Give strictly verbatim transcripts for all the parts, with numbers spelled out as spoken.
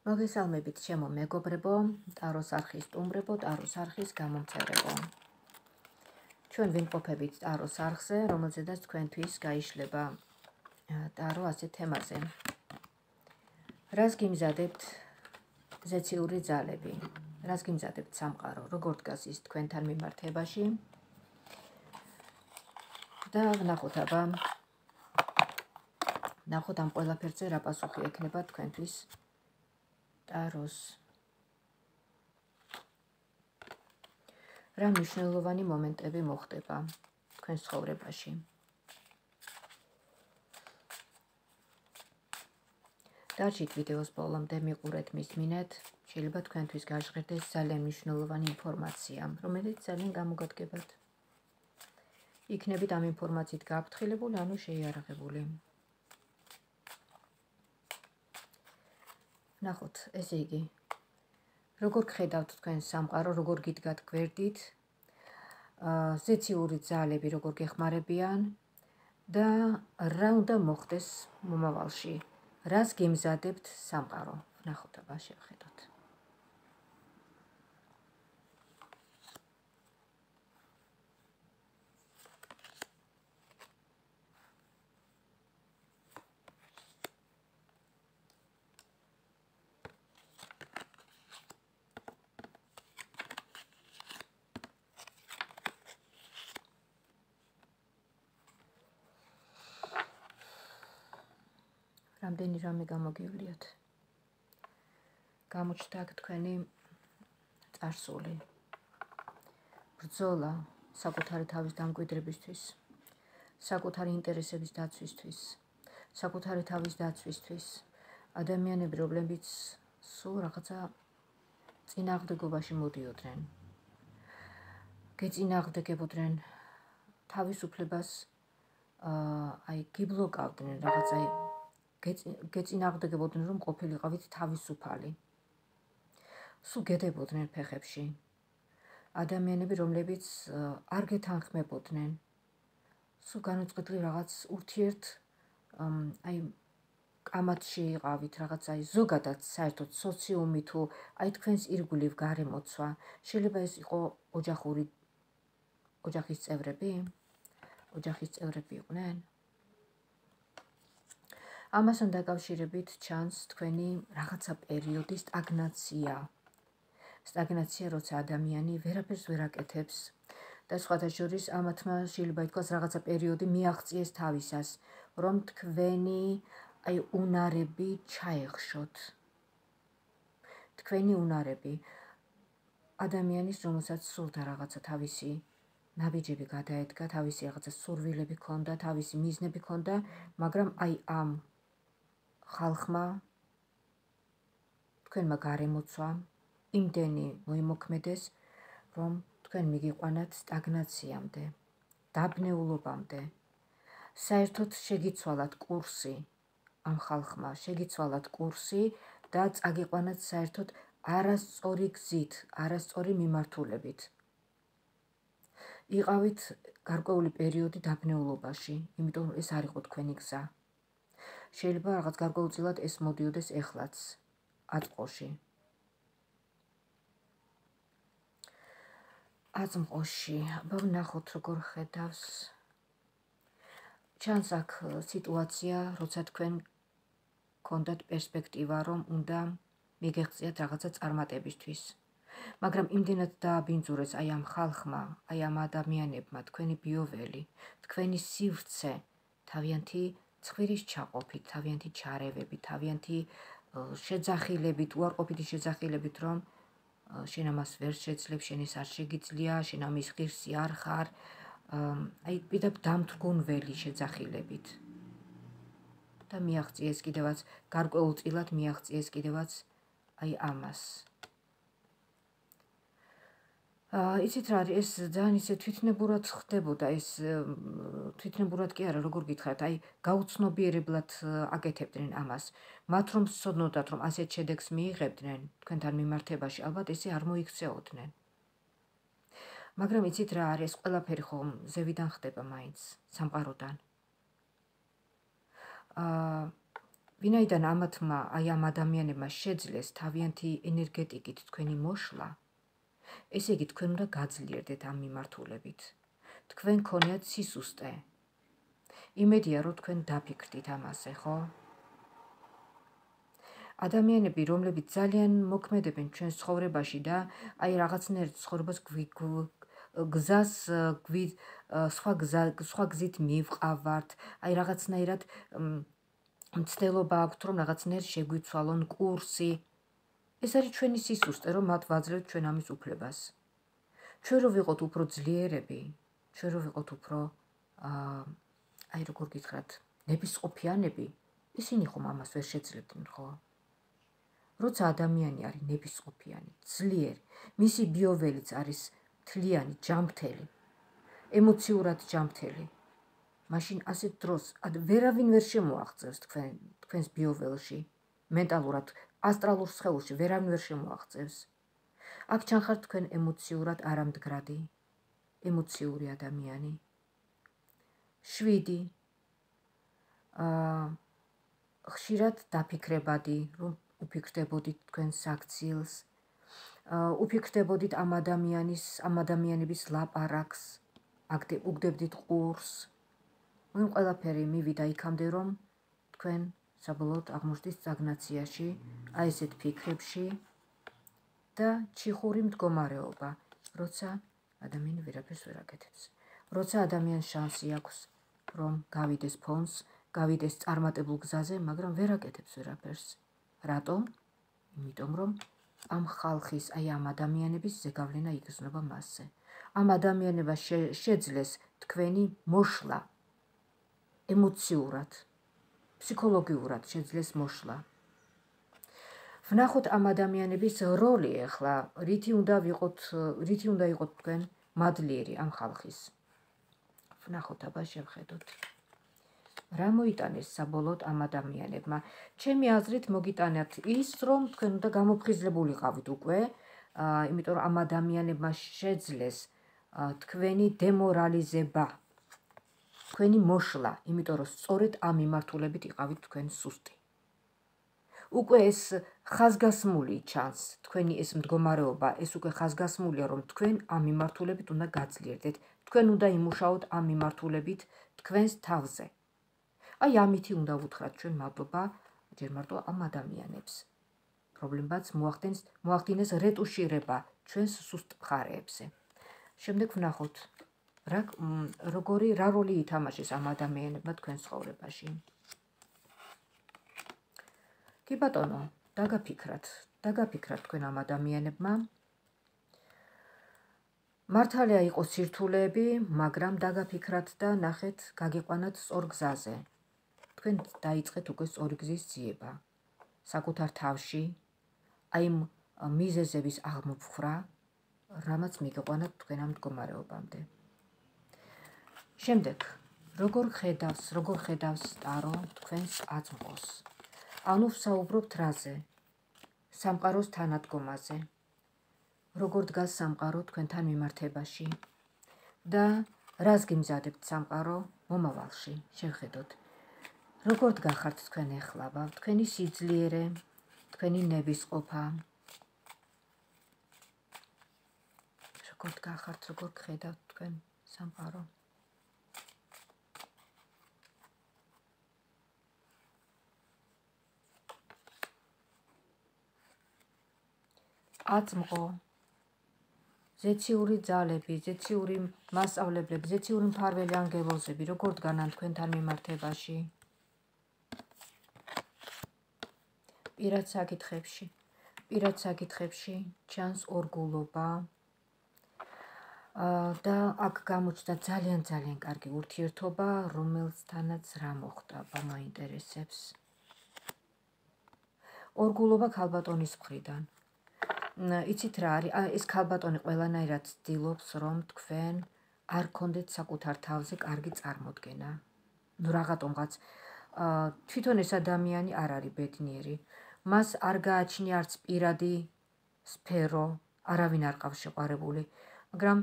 მოგესალმებით ჩემო მეგობრებო, ტაროს არხის სტუმრებო, ტაროს არხის გამომწერებო. ჩვენ ვიმყოფებით ტაროს არხზე, რომელზედაც თქვენთვის გაიშლება ტარო ასეთ თემაზე. რას გიმზადებთ ზეციური ძალები? რას გიმზადებთ სამყარო? როგორ დგას ის თქვენთან მიმართებაში? და ვნახოთ აბა, ვნახოთ ამ ყველაფერზე რა პასუხი ექნება თქვენთვის ტაროს. რა მნიშვნელოვანი მომენტები მოხდება თქვენს ცხოვრებაში? დარჩით ვიდეოს ბოლომდე, მიყურეთ, მისმინეთ, შეიძლება თქვენთვის გაჟღერდეს ძალიან მნიშვნელოვანი ინფორმაცია, რომელიც ძალიან გამოგადგებათ. იქნებით ამ ინფორმაციით გააფრთხილებული, ანუ შეიარაღებული. ნახოთ, ესე იგი, როგორ გხედავთ თქვენ სამყარო, როგორ გიდგათ გვერდით, ზეციური ძალები როგორ გეხმარებიან და რა უნდა მოხდეს მომავალში, რას გემზადებთ სამყარო. ნახოთ აბა, შევხედოთ. რამდენი რამე გამოგივლიათ. გამოჩნდა აქ თქვენი წარსული, ბრძოლა საკუთარი თავის დამკვიდრებისთვის, საკუთარი ინტერესების დაცვისთვის, საკუთარი თავის დაცვისთვის, ადამიანები, რომლებიც სულ რაღაცა წინააღმდეგობაში მოდიოდნენ, გეწინააღმდეგებოდნენ თავისუფლებას, აი გიბლოკავდნენ რაღაცა, გეწინააღმდეგებოდნენ რომ ყოფილიყავით თავისუფალი. სულ გედებოდნენ ფეხებში. ადამიანები, რომლებიც არ გეთანხმებოდნენ, სულ განუწყვეტლი რაღაც ურთიერთ აი კამათში იყავით, რაღაც აი ზოგადად საერთოდ სოციუმი თუ აი თქვენს ირგვლივ გარემოცვა. შეიძლება ეს იყო ოჯახური ოჯახის წევრები? ოჯახის წევრები იყვნენ? ამასთან დაკავშირებით ჩანს თქვენი რაღაცა პერიოდი სტაგნაცია. სტაგნაცია, როცა ადამიანი ვერაფერს ვერ აკეთებს და სხვათა შორის ამათმა შეიძლება ითქვას რაღაცა პერიოდი მიაღწიეს თავისას, რომ თქვენი აი უნარები ჩაეხშოთ. თქვენი უნარები ადამიანის, რომელსაც სურდა რაღაცა თავისი ნაბიჯები გადაედგა, თავისი რაღაცა სურვილები ჰქონდა, თავისი მიზნები ჰქონდა, მაგრამ აი ამ ხალხმა, თქვენმა გარემოცვამ იმდენი მოიმოქმედეს, რომ თქვენ მიგიყვანათ სტაგნაციამდე, დაბნეულობამდე. საერთოდ შეგიცვალათ კურსი ამ ხალხმა, შეგიცვალათ კურსი და წაგიყვანათ საერთოდ არასწორი გზით, არასწორი მიმართულებით. იყავით გარკვეული პერიოდი დაბნეულობაში, იმიტომ რომ ეს არ იყო თქვენი გზა. შეიძლება რაღაც გარკვეულწილად ეს მოდიოდეს ეხლაც, აწმყოში. აწმყოში, აბა ვნახოთ როგორ ხედავს. ჩანს აქ სიტუაცია, როცა თქვენ გქონდათ პერსპექტივა, რომ უნდა მიგეღწიათ რაღაცა წარმატებისთვის. მაგრამ იმდენად დააბინძურეს აი ამ ხალხმა, აი ამ ადამიანებმა, თქვენი ბიოველი, თქვენი სივრცე, თავიანთი ცხვირის ჩაყოფით, თავიანთი ჩარევებით, თავიანთი შეძახილებით, უარყოფითი შეძახილებით, რომ შენ ამას ვერ შეძლებ, შენ ეს არ შეგიძლია, შენ ამის ღირსი არ ხარ, აი პირდაპირ დამთრგუნველი შეძახილებით. და მიაღწიეს კიდევაც, გარკვეულწილად მიაღწიეს კიდევაც აი ამას. იცით რა არის, ეს ძალიან ისე თვითნებურად ხდებოდა, ეს თვითნებურად კი არა, როგორ გითხრათ, აი გაუცნობიერებლად აკეთებდნენ ამას. მათ რომ სცოდნოდათ, რომ ასეთ შედეგს მიიღებდნენ თქვენთან მიმართებაში, ალბათ ესე არ მოიქცეოდნენ. მაგრამ იცით რა არის, ეს ყველაფერი ხომ ზევიდან ხდება მაინც, სამყაროდან. ვინაიდან ამათმა აი ამ ადამიანებმა შეძლეს თავიანთი ენერგეტიკით თქვენი მოშლა, ესე იგი თქვენ უნდა გაძლიერდეთ ამ მიმართულებით. თქვენ ქონიათ სისუსტე. იმედია რომ თქვენ დაფიქრდით ამაზე, ხო? ადამიანები, რომლებიც ძალიან მოქმედებენ ჩვენს ცხოვრებაში და აი რაღაცნაირ ცხოვრებას გზას სხვა გზა სხვა გზით მივყავართ, აი რაღაცნაირად მცდელობა აქვთ, რომ რაღაცნაირ შეგვიცვალონ კურსი. ეს არის ჩვენი სისუსტე, რომ მათ ვაძლევთ ჩვენ ამის უფლებას. ჩვენ რო ვიყოთ უფრო ძლიერები, ჩვენ რო ვიყოთ უფრო აი როგორ გითხრათ, ნებისყოფიანები, ისინი ხომ ამას ვერ შეძლებდნენ, ხო? როცა ადამიანი არის ნებისყოფიანი, ძლიერი, მისი ბიოველიც არის მთლიანი, ჯანმრთელი, ემოციურად ჯანმრთელი, მაშინ ასეთ დროს ვერავინ ვერ შემოაღწევს თქვენ თქვენს ბიოველში, მენტალურად, ასტრალურ სხეულში ვერავინ ვერ შემოაღწევს. აქ ჩანხართ თქვენ ემოციურად არამდგრადი, ემოციური ადამიანი. შვიდი, აა ხშირად დაფიქრებადი, რომ უფიქრდებოდით თქვენ საქციელს, უფიქრდებოდით ამ ადამიანის, ამ ადამიანების ლაპარაკს, უგდებდით ყურს. მაგრამ ყველაფერი მივიდა იქამდე, რომ თქვენ საბოლოოდ აღმოჩნდით სტაგნაციაში, აი ესეთ ფიქრებში და ჩიხური მდგომარეობა, როცა ადამიანი ვერაფერს ვერ აკეთებს. როცა ადამიანს შანსი აქვს, რომ გავიდეს ფონს, გავიდეს წარმატებულ გზაზე, მაგრამ ვერ აკეთებს ვერაფერს. რატომ? იმიტომ რომ ამ ხალხის, აი ამ ადამიანების ზეგავლენა იგრძნობა მასზე. ამ ადამიანებას შეძლეს თქვენი მოშლა ემოციურად, ფსიქოლოგიურად შეძლეს მოშლა. ვნახოთ ამ ადამიანების როლი ახლა, რითი უნდა ვიყოთ, რითი უნდა იყოთ თქვენ მადლიერი ამ ხალხის. ვნახოთ, აბა შევხედოთ. რა მოიტანეს საბოლოოდ ამ ადამიანებმა? ჩემი აზრით მოგიტანათ ის, რომ თქვენ უნდა გამოფხიზლებულიყავით უკვე, იმიტომ რომ ამ ადამიანებმა შეძლეს თქვენი დემორალიზება, თქვენი მოშლა, იმიტომ რომ სწორედ ამ მიმართულებით იყავით თქვენ სუსტი. უკვე ეს ხაზგასმული ჩანს, თქვენი ეს მდგომარეობა, ეს უკვე ხაზგასმულია, რომ თქვენ ამ მიმართულებით უნდა გაძლიერდეთ, თქვენ უნდა იმუშაოთ ამ მიმართულებით თქვენს თავზე. აი ამითი უნდა ვუთხრათ ჩვენ მადლობა ჯერ მარტო ამ ადამიანებს. პრობლემაც მოახდინეს რეტუშირება ჩვენს სუსტ მხარეებზე. შემდეგ ვნახოთ, როგორი რა როლი ითამაშეს ამ ადამიანებმა თქვენ ცხოვრებაში. კი ბატონო, დაგაფიქრათ, დაგაფიქრათ თქვენ ამ ადამიანებმა. მართალია იყო სირთულეები, მაგრამ დაგაფიქრათ და ნახეთ, გაგიყვანათ სწორ გზაზე. თქვენ დაიწყეთ უკვე სწორი გზის ძიება. საკუთარ თავში, აი იმ მიზეზების აღმოფხვრა, რამაც მიგიყვანათ თქვენ ამ მდგომარეობამდე. შემდეგ, როგორ ხედავს, როგორ ხედავს ტარო თქვენს აწმყოს? ანუ ვსაუბრობთ რაზე? სამყაროს თანადგომაზე. როგორ დგას სამყარო თქვენთან მიმართებაში და რას გიმზადებთ სამყარო მომავალში? შევხედოთ. როგორ დგახართ თქვენ ეხლა? თქვენი სიძლიერე, თქვენი ნებისყოფა. როგორ დგახართ, როგორ გხედავთ თქვენ სამყარო? აწმყო, ზეციური ძალები, ზეციური მასწავლებლები, ზეციური მფარველი ანგელოზები, როგორ დგანან თქვენთან მიმართებაში? პირად საკითხებში, პირად საკითხებში ჩანს ორგულობა და აქ გამოჩნდა ძალიან ძალიან კარგი ურთიერთობა, რომელთანაც რა მოხდა, მაინტერესებს. ორგულობა ქალბატონის მხრიდან. იცით რა არის? ეს ქალბატონი ყველანაირად ცდილობს, რომ თქვენ არ გქონდეთ საკუთარ თავზე კარგი წარმოდგენა. ნუ რაღაცომღაც თვითონ ეს ადამიანი არ არის ბედნიერი. მას არ გააჩნია არც პირადი სფერო, არავინ არ ყავს შეყვარებული, მაგრამ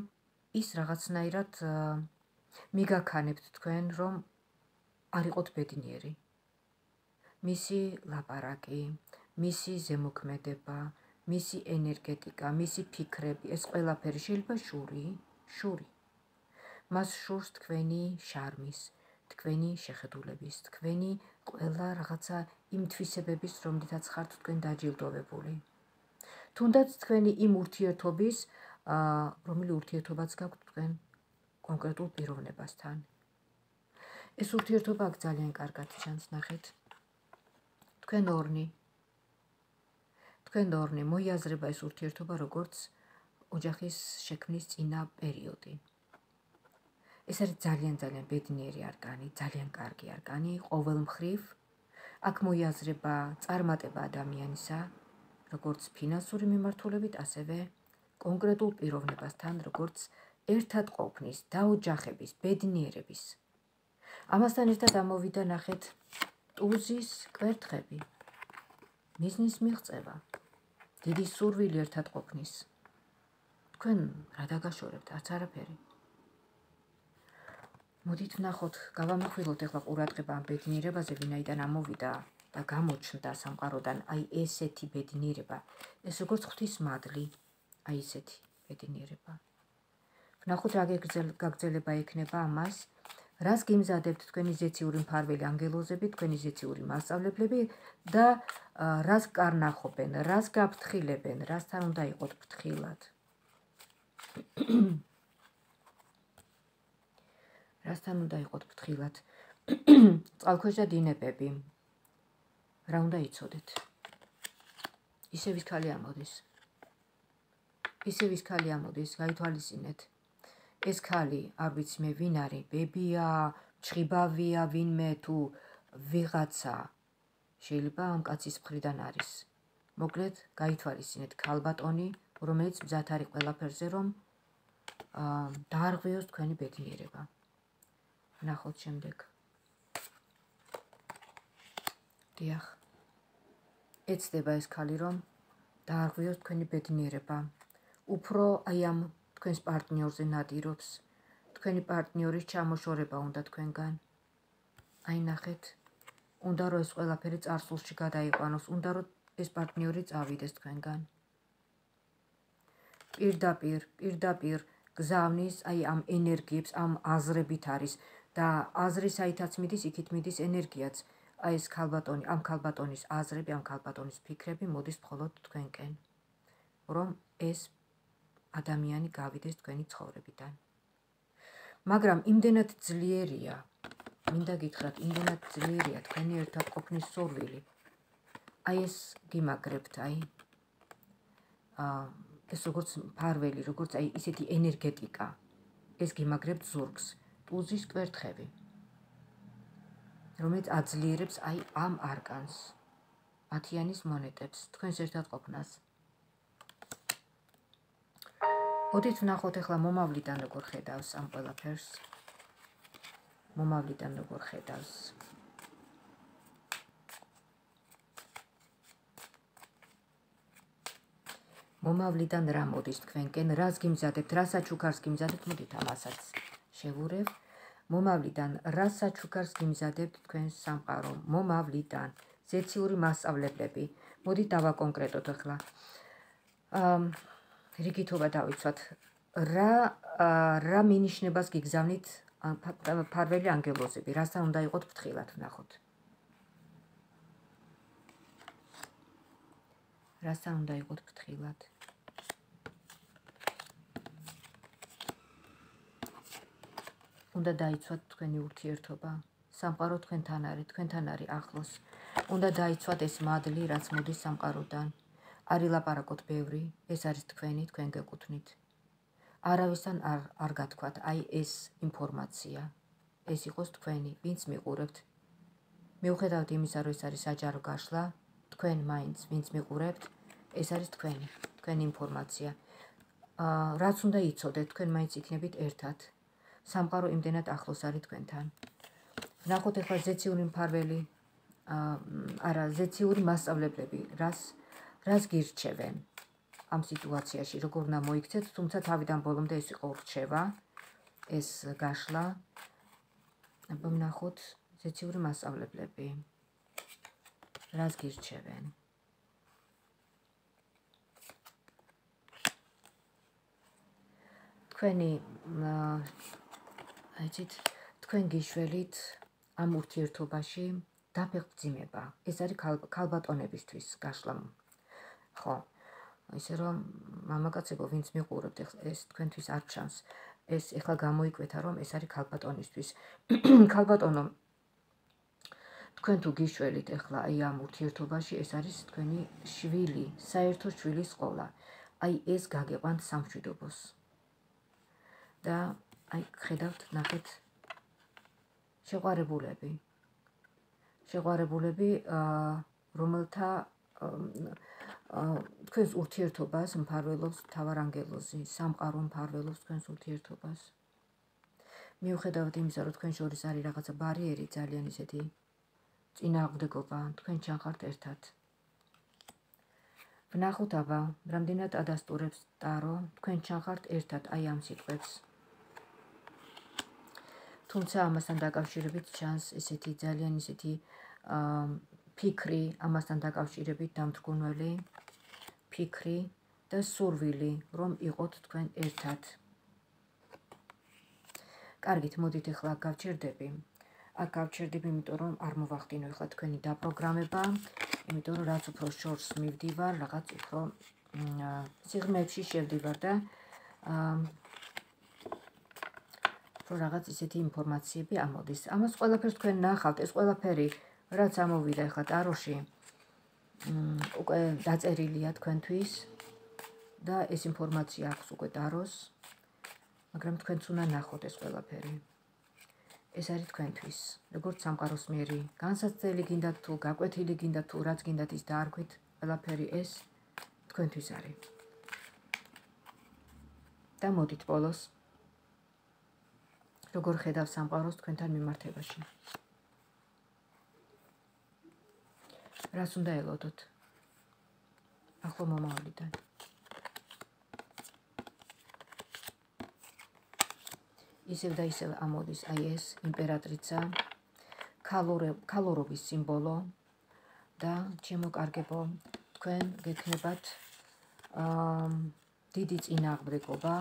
ის რაღაცნაირად მიგაქანებთ თქვენ, რომ არ იყოთ ბედნიერი. მისი ლაპარაკი, მისი ზემოქმედება, მისი ენერგეტიკა, მისი ფიქრები, ეს ყველაფერი შეიძლება შური, შური. მას შურს თქვენი შარმის, თქვენი შეხედულების, თქვენი ყველა რაღაცა იმ თვისებების, რომლითაც ხართ თქვენ დაჯილდოვებული. თუნდაც თქვენი იმ ურთიერთობის, რომელი ურთიერთობაც გაქვთ თქვენ კონკრეტულ პიროვნებასთან. ეს ურთიერთობა აქ ძალიან კარგად ჩანს, ნახეთ. თქვენ ორნი. თქვენ ორნი მოიაზრება ეს ურთიერთობა როგორც ოჯახის შექმნის წინა პერიოდი. ეს არის ძალიან ძალიან ბედნიერი არკანი, ძალიან კარგი არკანი, ყოველ მხრივ. აქ მოიაზრება წარმატება ადამიანისა, როგორც ფინანსური მიმართულებით, ასევე კონკრეტულ პიროვნებასთან, როგორც ერთად ყოფნის, დაოჯახების, ბედნიერების. ამასთან ერთად ამოვიდა ნახეთ ტუზის კვერთხები, მიზნის მიღწევა, დიდი სურვილი ერთად ყოფნის. თქვენ რა დაგაშორებთ, არც არაფერი. მოდით ვნახოთ, გავამახვილოთ ახლა ყურადღება ამ ბედნიერებაზე, ვინაიდან ამოვიდა და გამოჩნდა სამყაროდან აი ესეთი ბედნიერება, ეს როგორც ღვთის მადლი, აი ესეთი ბედნიერება. ვნახოთ რა გაგრძელება ექნება ამას, რას გიმზადებთ თქვენი ზეციური მფარველი ანგელოზები, თქვენი ზეციური მასწავლებლები და რას კარნახობენ, რას გაფრთხილებენ, რასთან უნდა იყოთ ფრთხილად. რასთან უნდა იყოთ ფრთხილად. წყალქვეშა დინებები. რა უნდა იცოდეთ? ისევ ის ქალი ამოდის. ისევ ის ქალი ამოდის, გაითვალისწინეთ. ეს ქალი, არ ვიცი მე ვინ არის, ბებია, ჩხიბავია, ვინმე თუ ვიღაცა შეიძლება ამ კაცის მხრიდან არის. მოკლედ, გაითვალისწინეთ ქალბატონი, რომელიც მზად არის ყველაფერზე, რომ დაარღვიოს თქვენი ბედნიერება. ვნახოთ შემდეგ. დიახ. ეცდება ეს ქალი, რომ დაარღვიოს თქვენი ბედნიერება. უფრო აი ამ თქვენს პარტნიორზე ნადირობს. თქვენი პარტნიორის ჩამოშორება უნდა თქვენგან. აი ნახეთ. უნდა რომ ეს ყველაფერი წარსულში გადაიყვანოს, უნდა რომ ეს პარტნიორი წავიდეს თქვენგან. პირდაპირ, პირდაპირ გზავნის აი ამ ენერგიებს, ამ აზრებით არის და აზრი საითაც მიდის, იქით მიდის ენერგიაც. აი ეს ქალბატონი, ამ ქალბატონის აზრები, ამ ქალბატონის ფიქრები მოდის მხოლოდ თქვენკენ, რომ ეს ადამიანი გავიდეს თქვენი ცხოვრებიდან. მაგრამ იმდენად ძლიერია, მინდა გითხრათ, იმდენად ძლიერია თქვენი ერთად ყოფნის სურვილი. აი ეს გიმაგრებთ, აი ეს როგორც მფარველი, როგორც აი ისეთი ენერგეტიკა, ეს გიმაგრებთ ზურგს, ტუზის კვერთხები, რომელიც აძლიერებს აი ამ არკანს, ათიანის მონეტებს, თქვენს ერთად ყოფნას. მოდით ვნახოთ ახლა მომავლიდან როგორ ხედავს ამ ყველაფერს. მომავლიდან როგორ ხედავს. მომავლიდან რა მოდის თქვენკენ, რას გიმზადებთ, რა საჩუქარს გიმზადებთ, მოდით ამასაც შევურევ. მომავლიდან რა საჩუქარს გიმზადებთ თქვენს სამყარო, მომავლიდან ზეციური მასწავლებლები. მოდით დავაკონკრეტოთ ახლა. რიგითობა დავიცვათ. რა რა მინიშნებას გიგზავნით მფარველი ანგელოზები, რასთან უნდა იყოთ ფრთხილად, ვნახოთ. რასთან უნდა იყოთ ფრთხილად. უნდა დაიცვათ თქვენი ურთიერთობა, სამყარო თქვენთან არის, თქვენთან არის ახლოს. უნდა დაიცვათ ეს მადლი, რაც მოდის სამყაროდან. არ ილაპარაკოთ ბევრი, ეს არის თქვენი, თქვენ გეკუთვნით. არავისთან არ არ გათქვათ, აი ეს ინფორმაცია. ეს იყოს თქვენი, ვინც მიყურებთ. მიუხედავად იმისა, რომ ეს არის საჯარო გაშლა, თქვენ მაინც, ვინც მიყურებთ, ეს არის თქვენი, თქვენი ინფორმაცია. რაც უნდა იცოდეთ, თქვენ მაინც იქნებით ერთად. სამყარო იმდენად ახლოს არის თქვენთან. ვნახოთ ახლა ზეციური მფარველი, არა, ზეციური მასწავლებლები, რას რას გირჩევენ ამ სიტუაციაში, როგორ უნდა მოიქცეთ, თუმცა თავიდან ბოლომდე ეს იყო რჩევა, ეს გაშლა. ვნახოთ ზეციური მასწავლებლები. რას გირჩევენ? თქვენი აიცით, თქვენ გიშველით ამ ურთიერთობაში დაფეხმძიმება. ეს არის ქალბატონებისთვის გაშლა. ხო, ისე რომ მამაკაცებო, ვინც მიყურებთ, ეს თქვენთვის არ ჩანს. ეს ეხლა გამოიკვეთა, რომ ეს არის ქალბატონისთვის. ქალბატონო, თქვენ თუ გიშველით ეხლა აი ამ ურთიერთობაში, ეს არის თქვენი შვილი, საერთო შვილის ყოლა. აი ეს გაგეყვანთ სამშვიდობოს. და აი ხედავთ, ნახეთ, შეყვარებულები. შეყვარებულები, რომელთა თქვენს ურთიერთობას მფარველობს მთავარანგელოზი, სამყარო მფარველობს თქვენს ურთიერთობას. მიუხედავად იმისა, რომ თქვენ შორის არის რაღაცა ბარიერი, ძალიან ისეთი წინააღმდეგობა, თქვენ ჩანხართ ერთად. ვნახოთ აბა, რამდენად ადასტურებს ტარო, თქვენ ჩანხართ ერთად აი ამ სიტყვებს. თუმცა ამასთან დაკავშირებით ჩანს ესეთი ძალიან ისეთი ფიქრი, ამასთან დაკავშირებით დამთრგუნველი ფიქრი და სურვილი, რომ იყოთ თქვენ ერთად. კარგით, მოდით ეხლა აქ გავჩერდები. აქ გავჩერდები, იმიტომ რომ არ მოვახდინო ეხლა თქვენი დაპროგრამება, იმიტომ რომ რაც უფრო შორს მივდივარ, რაღაც უფრო სიღრმეებში შევდივარ და რომ რაღაც ისეთი ინფორმაციები ამოდის. ამას ყველაფერს თქვენ ნახავთ, ეს ყველაფერი რაც ამოვიდა ეხლა ტაროში, უკვე დაწერილია თქვენთვის და ეს ინფორმაცია აქვს უკვე ტაროს, მაგრამ თქვენც უნდა ნახოთ ეს ყველაფერი. ეს არის თქვენთვის, როგორც სამყაროს მიერი განსაცდელი გინდათ თუ გაკვეთილი გინდათ თუ რაც გინდათ ის დაარქვით, ყველაფერი ეს თქვენთვის არის. და მოდით ბოლოს როგორ ხედავს სამყაროს თქვენთან მიმართებაში. რას უნდა ელოდოთ? ახლო მომავალიდან. ისევ და ისევ ამოდის აი ეს იმპერატრიცა, ქალორობის სიმბოლო და ჩემო კარგებო, თქვენ გექნებათ დიდი წინააღმდეგობა,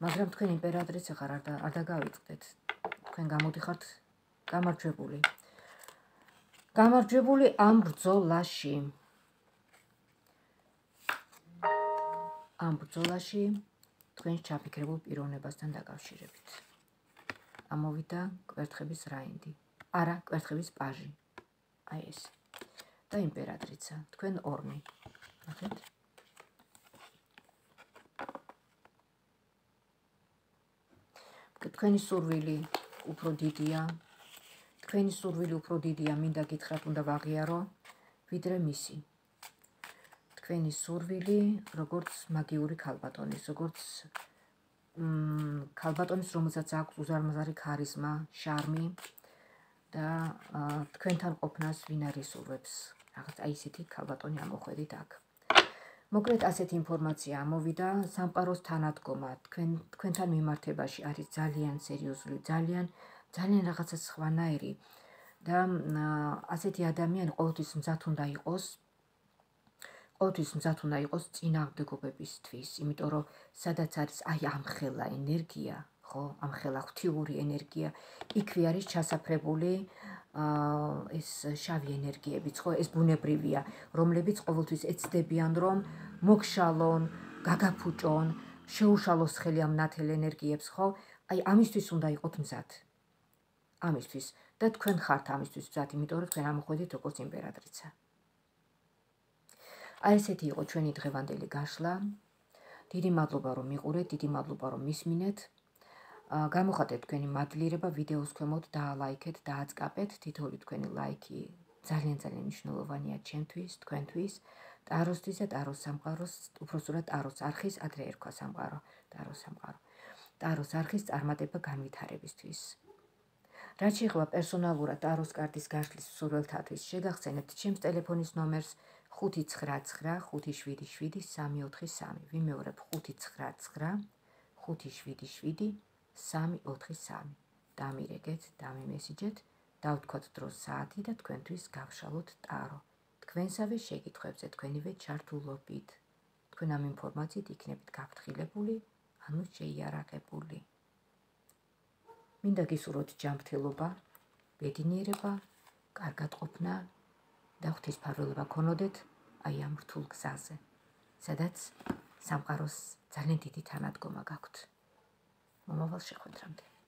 მაგრამ თქვენ იმპერატრიცა ხარ არ დაგავიწყდეთ. თქვენ გამოდიხართ გამარჯვებული. გამარჯვებული ამ ბრძოლაში. ამ ბრძოლაში თქვენს ჩაფიქრებულ პიროვნებასთან დაკავშირებით. ამოვიდა კვერთხების რაინდი. არა, კვერთხების პაჟი. აი ეს. და იმპერატრიცა. თქვენ ორმი. ნახეთ. თქვენი სურვილი უფრო დიდია. თქვენი სურვილი უფრო დიდია, მინდა გითხრათ, უნდა ვაღიარო, ვიდრე მისი. თქვენი სურვილი, როგორც მაგიური ქალბატონის, როგორც ქალბატონის, რომელსაც აქვს უზარმაზარი ქარიზმა, შარმი და თქვენთან ყოფნას ვინ არ ისურვებს. რაღაც აი ესეთი ქალბატონი ამოხვედით აქ. მოკლედ ასეთი ინფორმაცია ამოვიდა, სამყაროს თანადგომა თქვენთან მიმართებაში არის ძალიან სერიოზული, ძალიან ძალიან რაღაცა სხვანაირი და ასეთი ადამიანი ყოველთვის მზად უნდა იყოს, ყოველთვის მზად უნდა იყოს წინააღმდეგობებისთვის, იმიტომ რომ სადაც არის აი ამხელა ენერგია, ხო, ამხელა ღვთიური ენერგია, იქვე არის ჩასაფრებული ეს შავი ენერგიებიც, ხო, ეს ბუნებრივია, რომლებიც ყოველთვის ეცდებიან, რომ მოგშალონ, გაგაფუჭონ, შეუშალოს ხელი ამ ნათელ ენერგიებს, ხო? აი ამისთვის უნდა იყოთ მზად. ამისთვის და თქვენ ხართ ამისთვის მზად, იმიტომ რომ თქვენ ამოხვედით როგორც იმპერატრიცა. აი ესეთი იყო ჩვენი დღევანდელი გაშლა. დიდი მადლობა რომ მიყურეთ, დიდი მადლობა რომ მისმინეთ. გამოხატეთ თქვენი მადლიერება ვიდეოს ქვემოთ, დაალაიქეთ, დააწყაპეთ. თითოეული თქვენი ლაიქი ძალიან ძალიან მნიშვნელოვანია ჩემთვის, თქვენთვის, ტაროსთვის და ტაროს სამყაროს, უпроსტურად ტაროს არხის, ადრე ერქვა სამყარო, ტაროს სამყარო. ტაროს არხის წარმატება განვითარებისთვის. რაც შეეხება პერსონალურად ტაროს კარტის გაშლის მსურველთათვის, შეგახსენებთ ჩემს ტელეფონის ნომერს ხუთი ცხრა ცხრა ხუთი შვიდი შვიდი სამი ოთხი სამი. ვიმეორებ ხუთი ცხრა ცხრა ხუთი შვიდი შვიდი სამი ოთხი სამი. დამირეკეთ, დამიმესიჯეთ დავთქვათ დროს საათი და თქვენთვის გავშალოთ ტარო. თქვენსავე შეკითხვებზე თქვენივე ჩართულობით. თქვენ ამ ინფორმაციით იქნებით გაფრთხილებული, ანუ შეიარაღებული. მინდა გისურვოთ ჯანმრთელობა, ბედნიერება, კარგად ყოფნა და ღვთისმფარველობა ქონოდეთ აი ამ რთულ გზაზე, სადაც სამყაროს ძალიან დიდი თანადგომა გაქვთ. მომავალ შეხვედრამდე.